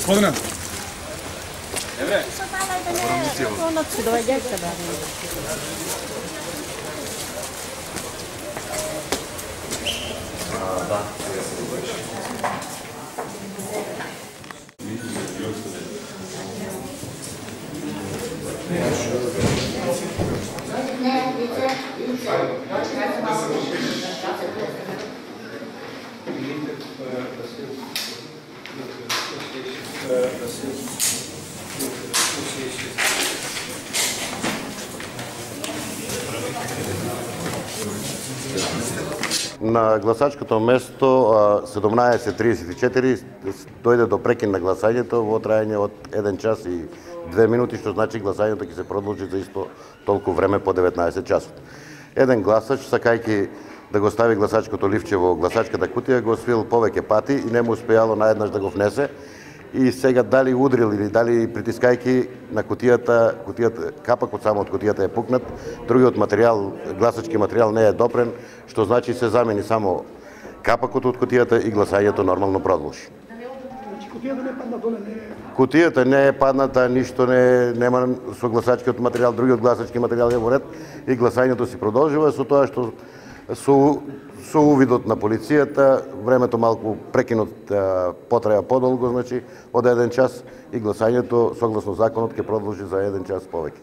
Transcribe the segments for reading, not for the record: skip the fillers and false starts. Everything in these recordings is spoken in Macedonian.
Pogledaj. Евре. Да. На гласачкото место 17:34 дојде до прекин на гласањето во трајање од 1 час и 2 минути, што значи гласањето ќе се продолжи за исто толку време по 19 часот. Еден гласач, сакајќи да го стави гласачкото ливче во гласачката кутија, го освил повеќе пати и не му успеало наеднаш да го внесе. И сега дали удрил или дали притискајќи на кутијата, капакот само од кутијата е пукнат, другиот материјал, гласачки материјал не е допрен, што значи се замени само капакот од кутијата и гласањето нормално продолжи. Кутијата не падна доле, не е... Кутијата не е падната, ништо нема со гласачкиот материјал, другиот гласачки материјал е во ред и гласањето си продолжува со тоа што со увидот на полицијата, времето малку прекинот потраја подолго, значи од 1 час и гласањето согласно законот ќе продолжи за 1 час повеќе.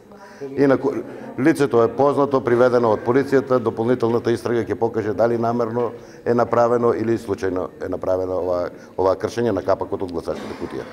Инаку лицето е познато, приведено од полицијата, дополнителната истрага ќе покаже дали намерно е направено или случајно е направено ова кршење на капакот од гласачката кутија.